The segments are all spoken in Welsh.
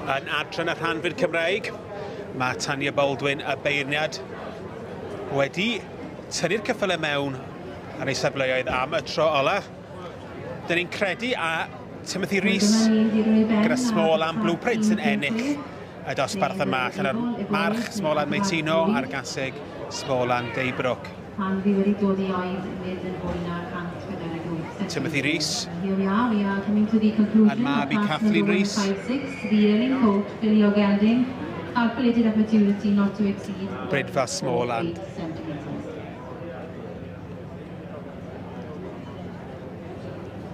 yn adran y rhanfyd Cymraeg. Mae Tanya Baldwin y beirniad wedi tynnu'r ceffylau mewn ar ei safleoedd am y tro ola. Dyn ni'n credu a Timothy Rees gyda Small and Blueprint yn ennill y dosbarth yma allan o'r march Small and Maitino a'r gaseg Small and Daybrook. Pan fi wedi dod i oed nid yn fwy na 148 Timothy Rees. Here we are, we are coming to the conclusion And mab i of class Kathleen number Rees. 156, the yearling colt filly or gelding, calculated at maturity not to exceed Brydfa Smallland. 8 centimetres.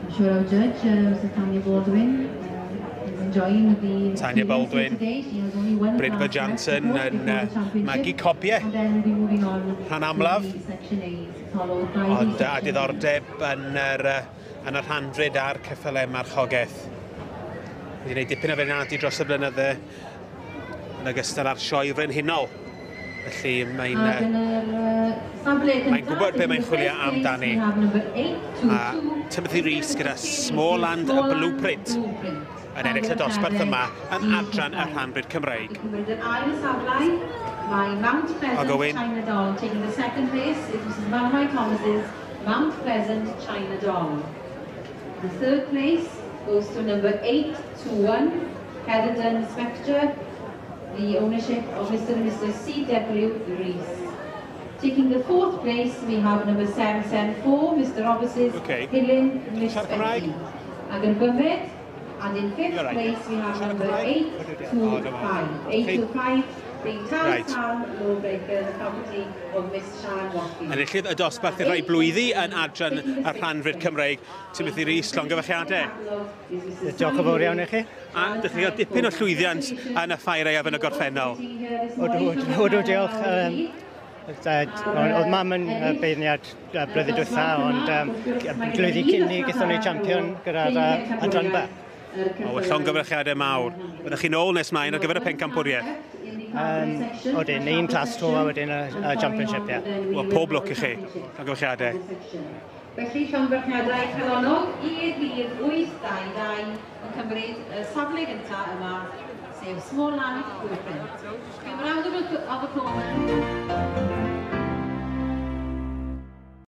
I'm sure our judge, Mrs Tanya Baldwin, is enjoying the Tanya experience here Baldwin, today. She has only one Brydfa class left to Jansen go yn before the championship. magu cobiau And then we'll be moving on rhan to amlaf. the Section A's, followed by the Ond a Section Bs. diddordeb yn yr rhanfrid a'r ceffylau marchogaeth. Wedi gwneud dipyn o feirniadu dros y blynydde yn ogystal â'r sioe frenhinol. Felly mae'n Ac yn yr safle mae'n cyntaf, gwybod be mae'n taking the chwilio first place, amdani. we have number 822, A Timothy Rees gyda Smallland Smallland Blueprint Blueprint. yn ennill y dosbarth yma yn adran y rhanfrid Cymreig. I cymryd yr ail safle, mae Mount Pleasant I'll go in. China Doll. Taking the second place is Mrs Malmai Thomas's Mount Pleasant China Doll. The third place goes to number 821, Heatherton Spectre, the ownership of Mr. and Mrs. C.W. Rees. Taking the fourth place, we have number 774, Mr. Roberts' Okay. Helen Miss Siarad Cymraeg? Betty. Ac yn bumed, and in fifth You're right. place, we have Siarad number Cymraeg? 825. 825 being Tal Right. Town Lawbreaker, the property of Miss Sharon Watkins. Enillydd y dosbarth i rhai blwyddi yn adran y rhanfrid Cymreig, Timothy Rees, llongyfarchiadau. Diolch yn fawr iawn i chi. A dych chi gael dipyn o llwyddiant yn y ffair aeaf yn y gorffennol. Odw, diolch. Oedd mam yn beirniad blwyddyn diwetha, ond blwyddyn cyn ni gaethon ni champion gyda'r adran B. O, wel, llongyfarchiadau mawr. Byddwch chi'n ôl nes mlaen ar gyfer y pencampwriaeth. Odyn, un class to a wedyn y championship, ie. Yeah. Wel, pob lwc i chi. Llongyfarchiadau. Felly, llongyfarchiadau calonnog i'r rhif 822 yn cymryd y safle gyntaf yma, sef Smallland Blueprint. Give a round of applause.